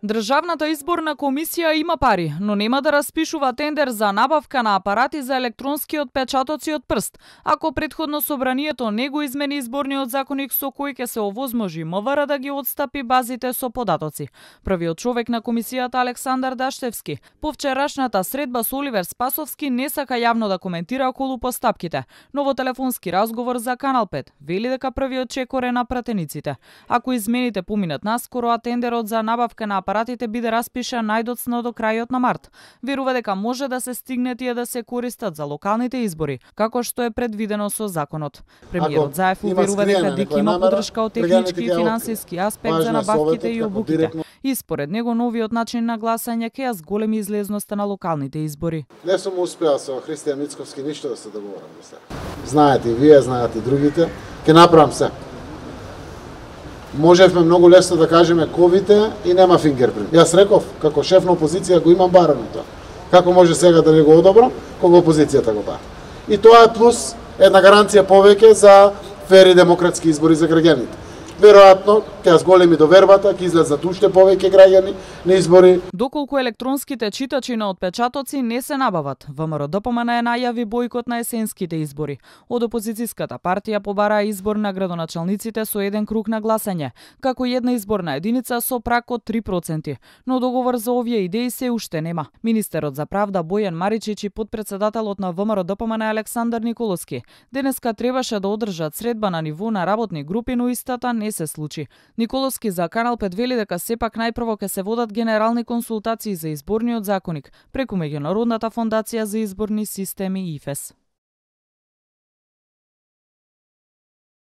Државната изборна комисија има пари, но нема да распишува тендер за набавка на апарати за електронски отпечатоци од прст, ако претходно собранието не го измени изборниот законник со кој ќе се овозможи МВР да ги отстапи базите со податоци. Првиот човек на комисијата Александар Даштевски по вчерашната средба со Оливер Спасовски не сака јавно да коментира околу постапките, но во телефонски разговор за Канал 5 вели дека првиот чекор е на пратениците. Ако измените поминат наскоро, а тендерот за набавка на апаратите биде распишан најдоцна до крајот на март. Верува дека може да се стигне тие да се користат за локалните избори, како што е предвидено со законот. Премиерот Заев уверува дека ДИК има поддршка од технички и финансиски аспект за набавките и обуките. И според него новиот начин на гласање ќе ја зголеми излезноста на локалните избори. Не сум успеал со Христијан Мицковски ништо да се договорам до сега. Знаете и вие, знаете и другите, ќе направам се. Можевме многу лесно да кажеме ковите и нема фингерпринт. Јас реков, како шеф на опозиција го имам барано тоа. Како може сега да не го одобрам, кога опозицијата го бара. И тоа е плюс една гаранција повеќе за фери демократски избори за граѓаните. Веројатно, ќе зголеми довербата, ќе излезат уште повеќе граѓани на избори. Доколку електронските читачи на отпечатоци не се набават, ВМРО ДПМН најави бојкот на есенските избори. Од опозицијската партија побара избор на градоначалниците со еден круг на гласање, како една изборна единица со прак од 3%, но договор за овие идеи се уште нема. Министерот за правда Бојан Маричич и потпредседателот на ВМРО ДПМН Александар Николовски денеска требаше да одржат средба на ниво на работни групи, но истата не се случи. Николовски за Канал 5 вели дека сепак најпрво ќе се водат генерални консултации за изборниот законник преку Меѓународната фондација за изборни системи ИФЕС.